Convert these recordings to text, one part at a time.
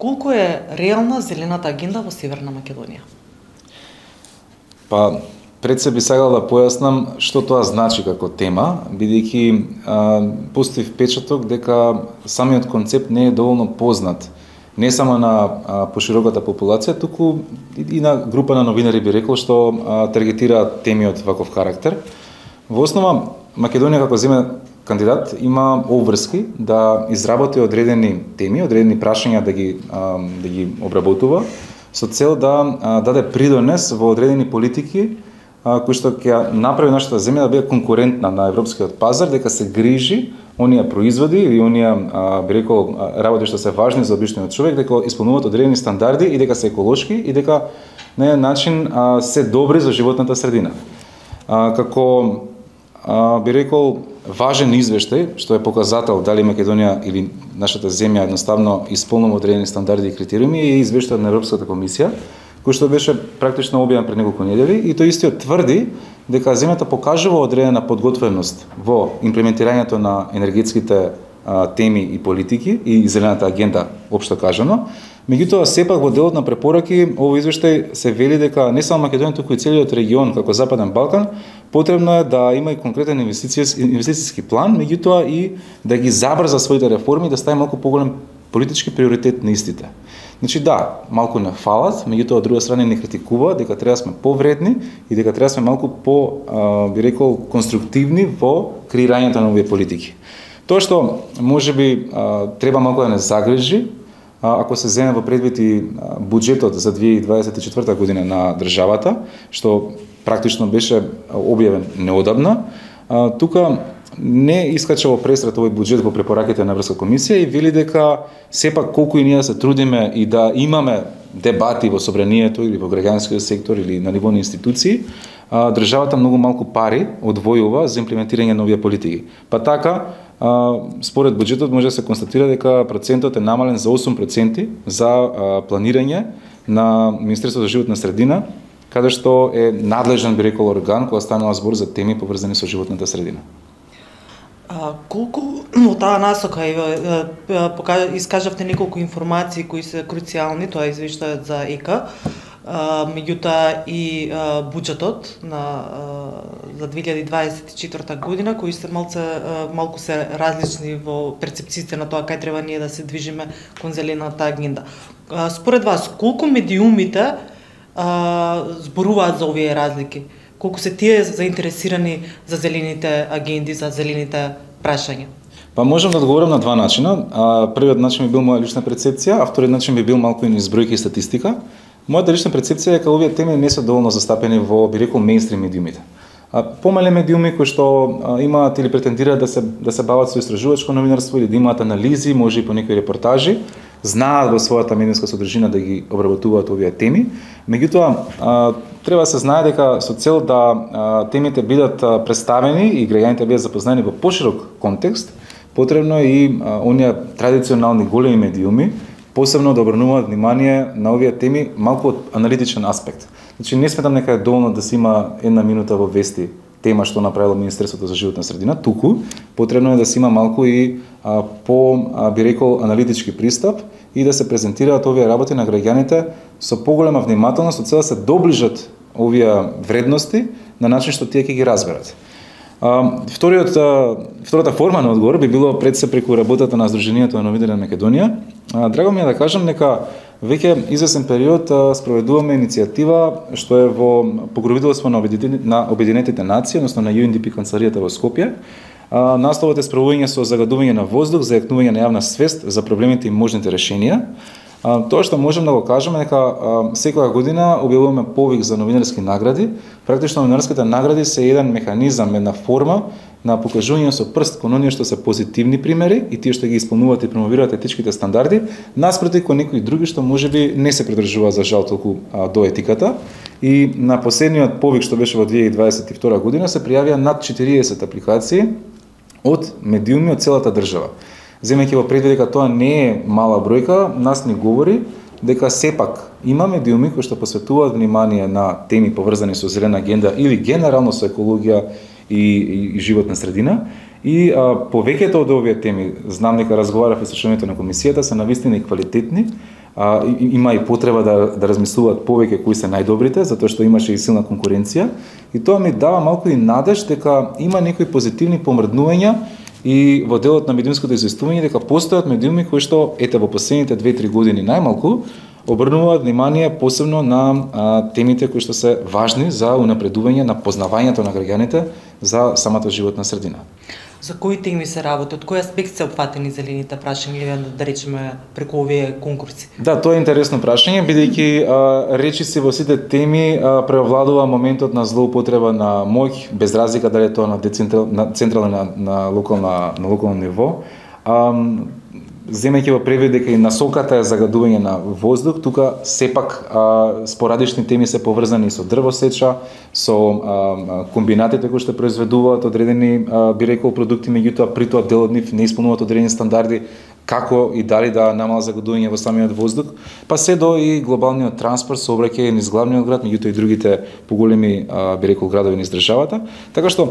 колку е реална зелената агенда во Северна Македонија? Па, пред се би сакал да појаснам што тоа значи како тема, бидејќи постои впечаток дека самиот концепт не е доволно познат не само на пошироката популација, туку и на група на новинари би рекол што таргетираат теми од ваков карактер. Во основа, Македонија како земја кандидат има обврски да изработи одредени теми, одредени прашања да ги обработува со цел да даде придонес во одредени политики кои што ќе направи нашата земја да биде конкурентна на европскиот пазар, дека се грижи оние производи и оние би рекол работи што се важни за обичниот човек, дека исполнуваат одредени стандарди и дека се еколошки и дека на еден начин се добри за животната средина. Како би рекол важен извештај што е показател дали Македонија или нашата земја едноставно исполнува одредени стандарди и критериуми е извештајот на Европската комисија, кој што беше практично објавен пред неколку недели и тој истиот тврди дека земјата покажува одредена подготвеност во имплементирањето на енергетските теми и политики и зелената агенда општо кажано. Меѓутоа, сепак во делот на препораки, овој извештај се вели дека не само Македонија, туку и целиот регион, како Западен Балкан, потребно е да има и конкретен инвестициски план, меѓутоа и да ги забрза своите реформи, да стави малку поголем политички приоритет на истите. Значи да, малку не фалат, меѓутоа од друга страна не критикува дека треба да сме повредни и дека треба да сме малку би рекол конструктивни во креирањето на овие политики. Тоа што можеби треба малку да не загрижи, ако се земе во предвид и буџетот за 2024 година на државата, што практично беше објавен неодамна, тука не искача во пресрет овој буџет во препораките на Европска комисија и вели дека сепак колку и ние се трудиме и да имаме дебати во собранието или во граѓанскиот сектор или на ниво на институции, државата многу малку пари одвојува за имплементирање на овие политики. Па така, според буџетот може да се констатира дека процентот е намален за 8% за планирање на Министерството за животна средина, каде што е надлежен би рекол орган кога станува збор за теми поврзани со животната средина. Колку во таа насока искажавте неколку информации кои се круцијални, тоа е извештајот за ЕКА, меѓутоа и буџетот за 2024 година, кои се малку се различни во перцепциите на тоа кај треба ние да се движиме кон зелената агенда. Според вас, колку медиумите зборуваат за овие разлики? Колку се тие заинтересирани за зелените агенди, за зелените прашања? Па можам да одговорам на два начина. Првиот начин би бил моја лична перцепција, а вториот начин би бил малку низ бројки и статистика. Мојата лична перцепција е дека овие теми не се доволно застапени во би рекол мејнстрим медиумите. Помале медиуми кои што имаат или претендираат да се бават со истражувачко новинарство или да имаат анализи, може и по некои репортажи, знаат во својата медиумска содржина да ги обработуваат овие теми. Меѓутоа, треба да се знае дека со цел да темите бидат представени и граѓаните бидат запознаени во поширок контекст, потребно е и оние традиционални големи медиуми посебно да обрнуваат внимание на овие теми малку од аналитичен аспект. Значи не сметам дека е доволно да се има една минута во вести тема што направило Министерството за животна средина, туку потребно е да се има малку и би рекол аналитички пристап и да се презентираат овие работи на граѓаните со поголема внимателност, со цел да се доближат овие вредности на начин што тие ќе ги разберат. Втората форма на одговор би било пред се преку работата на Сдруженијето на новинари на Македонија. Драго ми е да кажам дека веќе извесен период спроведуваме иницијатива што е во покровителство на Обединетите нации, односно на UNDP канцеларијата во Скопје. Насловот е справување со загадување на воздух, за јакнување на јавна свест за проблемите и можните решенија. Тоа што можем да го кажеме дека секоја година објавуваме повик за новинарски награди. Практично новинарските награди се еден механизам, една форма на покажување со прст кон оние што се позитивни примери и тие што ги исполнуваат и промовираат етичките стандарди, наспроти кон некои други што можеби не се придржуваат за жал толку до етиката. И на последниот повик што беше во 2022 година се пријавија над 40 апликации од медиуми од целата држава. Земејќи во предвид дека тоа не е мала бројка, нас ни говори дека сепак има медиуми кои што посветуваат внимание на теми поврзани со зелена агенда или генерално со екологија и животна средина. И повеќето од овие теми, знам дека разговарав и со членовите на комисијата, се навистина и квалитетни, има и потреба да размислуваат повеќе кои се најдобрите, затоа што имаше и силна конкуренција. И тоа ми дава малку и надеж дека има некои позитивни помрднувања и во делот на медиумското известување дека постојат медиуми кои што ете во последните 2-3 години најмалку обрнуваат внимание посебно на темите кои што се важни за унапредување на познавањето на граѓаните за самата животна средина. За кои теми се работи? Од кој аспект се опфатени зелените прашања или да речеме преку овие конкурси? Да, тоа е интересно прашање, бидејќи речиси во сите теми преовладува моментот на злоупотреба на моќ, без разлика дали е тоа на централно на локално ниво. Земејќи во превид дека и насоката е загадување на воздух, тука сепак спорадични теми се поврзани со дрвосеча, со комбинатите кои што произведуваат одредени би рекол продукти, меѓутоа при тоа дел од нив не исполнуваат одредени стандарди како и дали да намала загадување во самиот воздух, па се до и глобалниот транспорт, сообраќај низ главниот град, меѓутоа и другите поголеми би рекол градови низ државата. Така што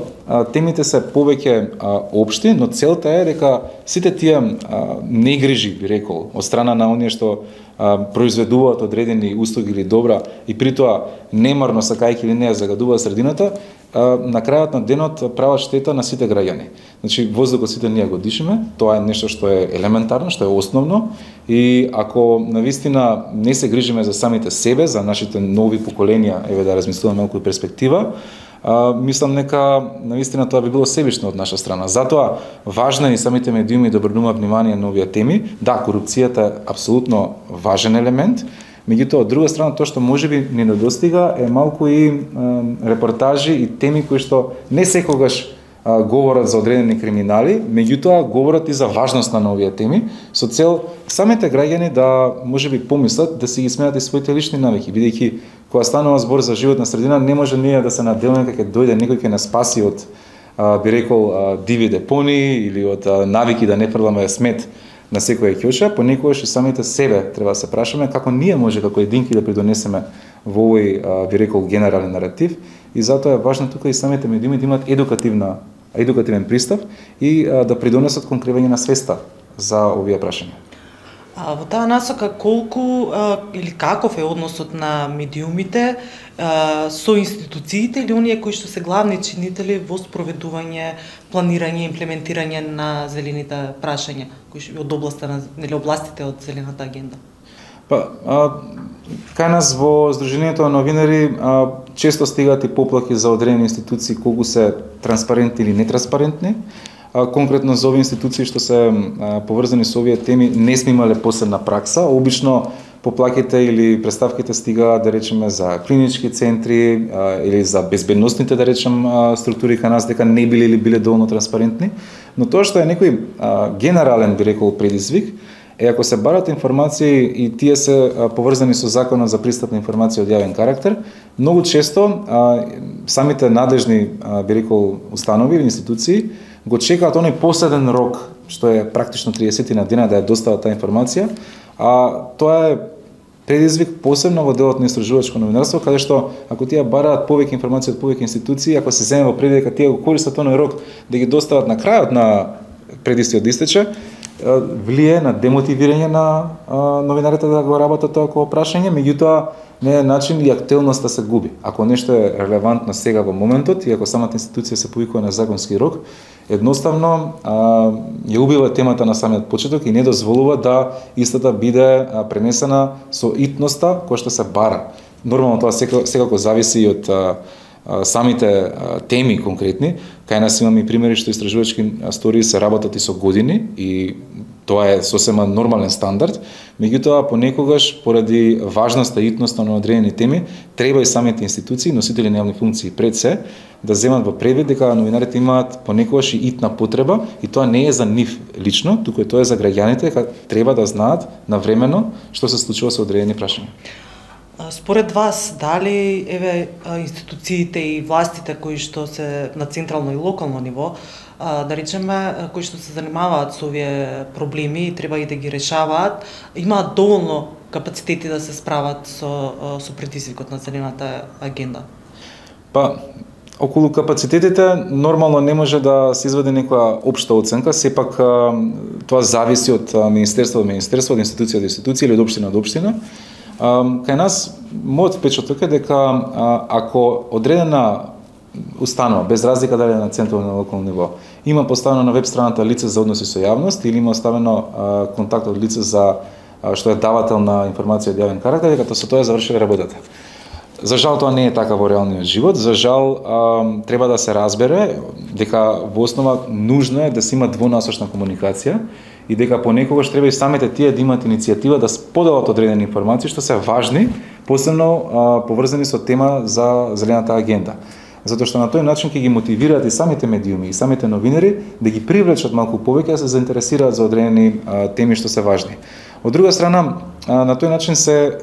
темите се повеќе општи, но целта е дека сите тие негрижи би рекол од страна на оние што произведуваат одредени услуги или добра и при тоа немарно сакајќи или не загадуваат средината, на крајот на денот прават штета на сите граѓани. Значи воздухот сите ние го дишиме, тоа е нешто што е елементарно, што е основно и ако навистина не се грижиме за самите себе, за нашите нови поколенија, еве да размислуваме малку и перспектива, мислам нека навистина тоа би било себично од наша страна. Затоа важно е и самите медиуми да обрнуваат внимание на овие теми. Да, корупцијата е апсолутно важен елемент, меѓутоа од друга страна тоа што можеби ни недостига е малку и репортажи и теми кои што не секогаш говорат за одредени криминали, меѓутоа говорат и за важноста на овие теми, со цел самите граѓани да можеби помислат да си ги сменат и своите лични навики, бидејќи кога станува збор за животна средина, не може ние да се наделаме дека ќе дојде некој ќе нас спаси од би рекол диви депони или од навики да не фрламе смет на секоја ќоша, понекогаш и самите себе треба да се прашаме како ние може како единки да придонесеме во овој би рекол генерален наратив и затоа е важно тука и самите медиуми да имаат едукативен пристап и да придонесат кон кривење на свеста за овие прашања. Во таа насока колку или каков е односот на медиумите со институциите или оние кои што се главни чинители во спроведување, планирање и имплементирање на зелените прашања, кои од областа на или областите од зелената агенда? Кај нас во Сдруженијето на новинари често стигаат и поплаки за одредени институции колку се транспарентни или нетранспарентни. Конкретно за овие институции што се поврзани со овие теми не сме имале посебна пракса. Обично поплаките или представките стигаат да речеме за клинички центри или за безбедносните да речем структури кај нас дека не биле или биле доволно транспарентни, но тоа што е некој генерален би рекол предизвик е ако се барат информации и тие се поврзани со законот за пристап на информација од јавен карактер, многу често самите надлежни би рекол установи или институции го чекаат оној последен рок, што е практично 30 на дена да ја достават таа информација, тоа е предизвик посебно во делот на истражувачко новинарство, каде што ако тие бараат повеќе информација од повеќе институции, ако се земе во предвид дека тие го користат оној рок да ги достават на крајот на предистиот истече, влие на демотивирање на новинарите да го работат тоа како прашање, меѓутоа не е начин и актуелноста се губи. Ако нешто е релевантно сега во моментот и ако самата институција се повикува на законски рок, едноставно ја убива темата на самиот почеток и не дозволува да истата биде пренесена со итноста која што се бара. Нормално тоа секако зависи и од самите теми конкретни. Кај нас имаме и примери што истражувачки стори се работат и со години и тоа е сосема нормален стандард, меѓутоа понекогаш поради важноста и итноста на одредени теми треба и самите институции, носители на јавни функции пред се, да земат во предвид дека новинарите имаат понекогаш и итна потреба и тоа не е за нив лично, туку тоа е за граѓаните дека треба да знаат навремено што се случува со одредени прашања. Според вас, дали институциите и властите кои што се на централно и локално ниво, да речеме, кои што се занимаваат со овие проблеми и треба и да ги решаваат, имаат доволно капацитети да се справат со предизвикот на зелената агенда? околу капацитетите нормално не може да се изведе некоја општа оценка, сепак тоа зависи од министерство до министерство, од институција до институција или од општина до општина. Кај нас мојот впечаток е дека ако одредена установа, без разлика дали на централно или на локално ниво, има поставено на веб страната лице за односи со јавност или има оставено контакт од лице за што е давател на информација од јавен карактер, дека со тоа е завршила работата. За жал тоа не е така во реалниот живот. За жал треба да се разбере дека во основа нужно е да се има двонасочна комуникација и дека понекогаш треба и самите тие да имаат иницијатива да споделат одредени информации што се важни, посебно поврзани со тема за зелената агенда. Затоа што на тој начин ќе ги мотивираат и самите медиуми и самите новинари да ги привлечат малку повеќе да се заинтересираат за одредени теми што се важни. Од друга страна, на тој начин се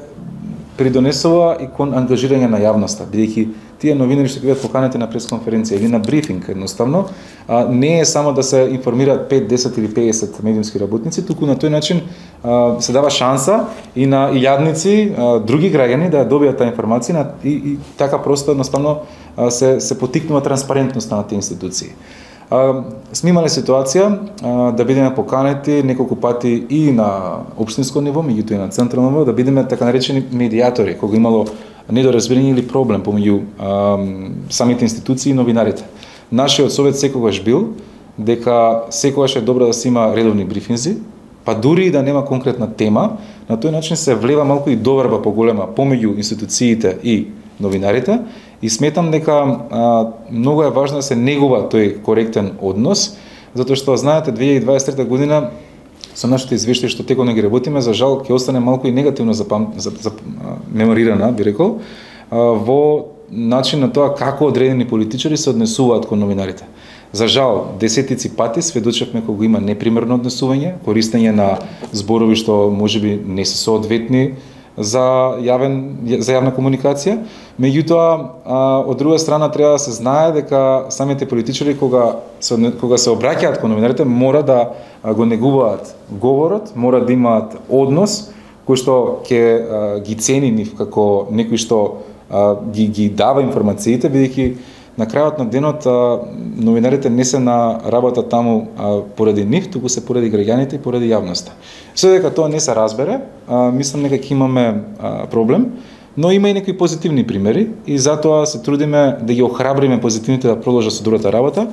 придонесува и кон ангажирање на јавноста, бидејќи тие новинари што ќе бидат поканети на пресконференција или на брифинг, едноставно, не е само да се информираат 5, 10 или 50 медиумски работници, туку на тој начин се дава шанса и на илјадници други граѓани да добијат таа информација и така просто едноставно се потикнува транспарентноста на тие институции. Сме имале ситуација да бидеме поканети неколку пати и на општинско ниво, меѓутоа и на централно ниво, да бидеме така наречени медијатори, кога имало недоразбирање или проблем помеѓу самите институции и новинарите. Нашиот совет секогаш бил дека секогаш е добро да се има редовни брифинзи, па дури и да нема конкретна тема, на тој начин се влева малку и доверба поголема помеѓу институциите и новинарите. И сметам дека многу е важно да се негува тој коректен однос, затоа што знаете 2023 година со нашите извештаи што теконо ги работиме, за жал ќе остане малку и негативно меморирана, би рекол, во начин на тоа како одредени политичари се однесуваат кон новинарите. За жал, десетици пати сведочевме кога има непримерно однесување, користење на зборови што можеби не се соодветни за јавна комуникација. Меѓутоа, од друга страна треба да се знае дека самите политичари кога се обраќаат кон новинарите мора да го негуваат говорот, мора да имаат однос кој што ќе ги цени нив како некој што ги дава информациите, бидејќи на крајот на денот новинарите не се на работа таму поради нив, туку се поради граѓаните и поради јавноста. Се дека тоа не се разбере, мислам дека ќе имаме проблем, но има и некои позитивни примери и затоа се трудиме да ги охрабриме позитивните да продолжат со добрата работа,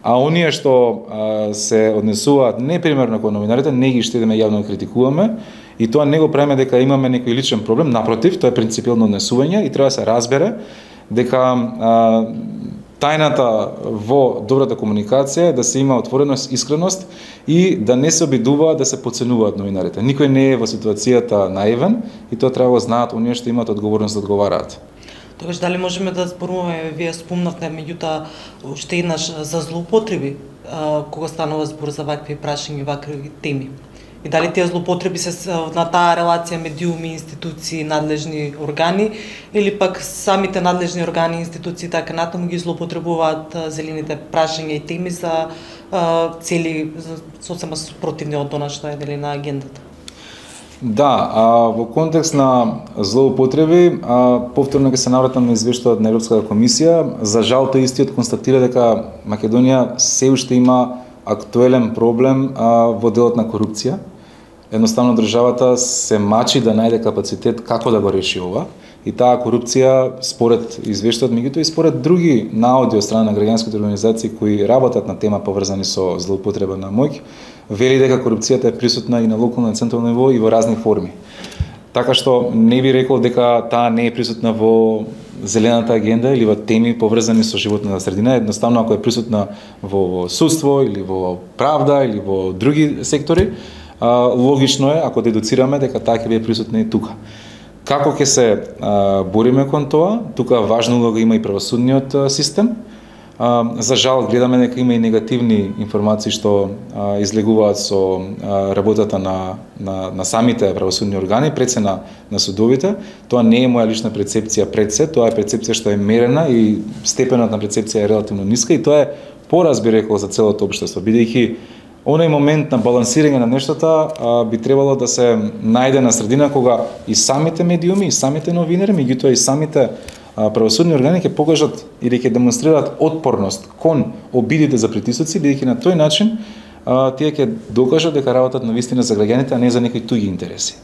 а оние што се однесуваат непримерно кон новинарите, не ги штедиме јавно да критикуваме и тоа не го правиме дека имаме некој личен проблем, напротив, тоа е принципиелно однесување и треба да се разбере дека тајната во добрата комуникација е да се има отвореност, искреност и да не се обидуваат да се подценуваат новинарите. Никој не е во ситуацијата наивен и тоа треба да знаат оние што имаат одговорност да одговараат. Тогаш дали можеме да зборуваме, вие спомнавте меѓутоа уште еднаш за злоупотреби кога станува збор за вакви прашања и вакви теми? И дали тие злоупотреби се на таа релација медиуми, институции, надлежни органи или пак самите надлежни органи и институции така натаму ги злоупотребуваат зелените прашања и теми за цели сосема спротивни од она што е дали на агендата? Да, во контекст на злоупотреби, повторно ќе се навратам на извештајот на Европската комисија. За жал тој истиот констатира дека Македонија се уште има актуелен проблем во делот на корупција. Едноставно државата се мачи да најде капацитет како да го реши ова и таа корупција според извештајот, меѓутоа и според други наоди од страна на граѓанските организации кои работат на тема поврзани со злоупотреба на моќ, вели дека корупцијата е присутна и на локално и централно ниво и во разни форми. Така што не би рекол дека таа не е присутна во зелената агенда или во теми поврзани со животната средина, едноставно ако е присутна во судство или во правда или во други сектори, логично е ако дедуцираме дека таа ќе биде присутна и тука. Како ќе се бориме кон тоа? Тука важна улога има и правосудниот систем. За жал гледаме дека има и негативни информации што излегуваат со работата на самите правосудни органи пред се на судовите. Тоа не е моја лична перцепција пред се, тоа е перцепција што е мерена и степенот на перцепција е релативно ниска и тоа е пораз би рекол за целото општество, бидејќи оној момент на балансирање на нештата би требало да се најде на средина кога и самите медиуми, и самите новинари, меѓутоа и самите правосудни органи ќе покажат или ќе демонстрираат отпорност кон обидите за притисоци, бидејќи на тој начин тие ќе докажат дека работат навистина за граѓаните, а не за некои туѓи интереси.